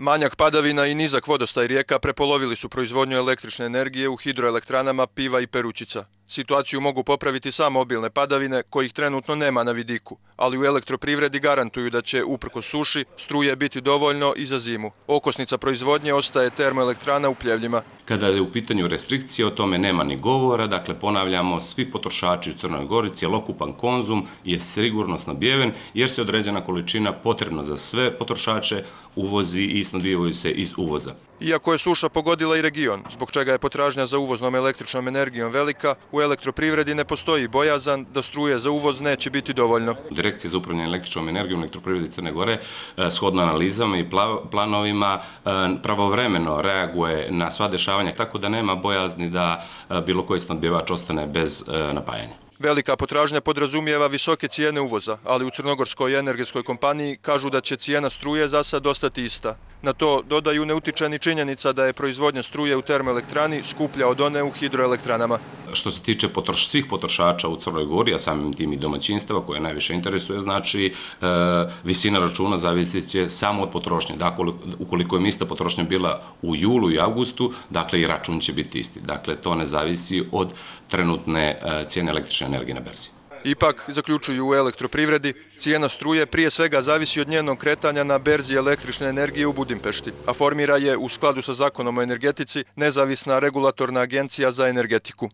Manjak padavina i nizak vodostaj rijeka prepolovili su proizvodnju električne energije u hidroelektranama Piva i Perućica. Situaciju mogu popraviti samo obilne padavine, kojih trenutno nema na vidiku, ali u elektroprivredi garantuju da će, uprkos suši, struje biti dovoljno i za zimu. Okosnica proizvodnje ostaje termoelektrana u Pljevljima. Kada je u pitanju restrikcije, o tome nema ni govora, dakle ponavljamo, svi potrošači u Crnoj Gori, cjelokupan konzum je sigurno snabdijeven jer se određena količina potrebna za sve potrošače uvozi i snabdijevaju se iz uvoza. Iako je suša pogodila i region, zbog čega je potražnja za uvoznom električnom energijom velika, u elektroprivredi ne postoji bojazan da struje za uvoz neće biti dovoljno. Direkcija za upravljanje električnom energijom u elektroprivredi Crne Gore shodno analizama i planovima pravovremeno reaguje na sva dešavanja, tako da nema bojazni da bilo koji snabdjevač ostane bez napajanja. Velika potražnja podrazumijeva visoke cijene uvoza, ali u Crnogorskoj energetskoj kompaniji kažu da će cijena struje za sad ostati ista. Na to dodaju ne utiče ni činjenica da je proizvodnja struje u termoelektrani skuplja od one u hidroelektranama. Što se tiče svih potrošača u Crnoj Gori, a samim tim i domaćinstava koje najviše interesuje, znači visina računa zavisit će samo od potrošnje. Dakle, ukoliko je ista potrošnja bila u julu i avgustu, dakle i račun će biti isti. Dakle, to ne zavisi od trenutne cijene električne energije na berzi. Ipak, zaključuju u elektroprivredi, cijena struje prije svega zavisi od njenog kretanja na berzi električne energije u Budimpešti, a formira je, u skladu sa zakonom o energetici, nezavisna regulatorna agencija za energetiku.